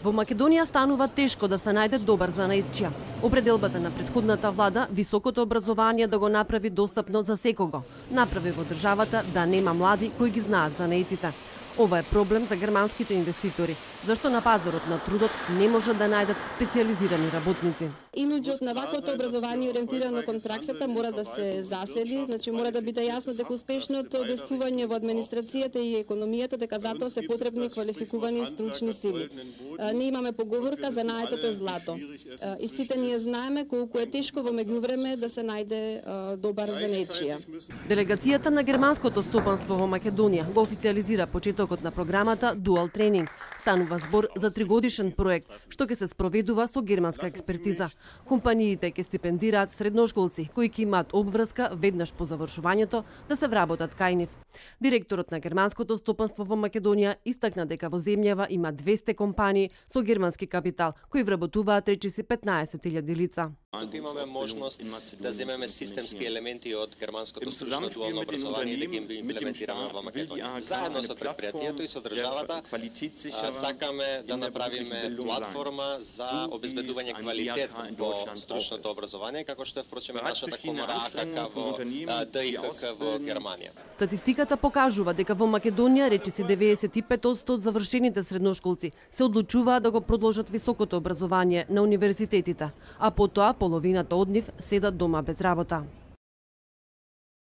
Во Македонија станува тешко да се најде добар занаетчија. Определбата на претходната влада високото образование да го направи достапно за секого, направи во државата да нема млади кои ги знаат занаетите. Ова е проблем за германските инвеститори, зашто на пазарот на трудот не можат да најдат специјализирани работници. Имиџот на ваквото образование ориентирано кон праксата мора да се засели, значи мора да биде јасно дека успешното действување во администрацијата и економијата дека затоа се потребни квалификувани стручни сили. Ние имаме поговорка за наетот е злато. И сите ние знаеме колку е тешко во меѓувреме да се најде добар занаетчија. Делегацијата на германското стопанство во Македонија го официализира почетокот на програмата Dual Training. Станува збор за 3-годишен проект, што ќе се спроведува со германска експертиза. Компаниите ќе стипендираат средношколци кои ќе имаат обврска веднаш по завршувањето да се вработат кај нив. Директорот на германското стопанство во Македонија истакна дека во земјава има 200 компании со германски капитал кои вработуваат речиси 15.000 лица. Имаме можност да земеме системски елементи од германското стручно дуално образование и да ги имплементираме во Македонија. Заедно со предпријатието и со државата сакаме да направиме платформа за обезбедување квалитет во стручното образование, како што е впрочем нашата комора АКК во ДИХК во Германија. Статистиката покажува дека во Македонија речиси 95% од завршените средношколци се одлучуваат да го продолжат високото образование на универзитетите, а потоа половината од нив седат дома без работа.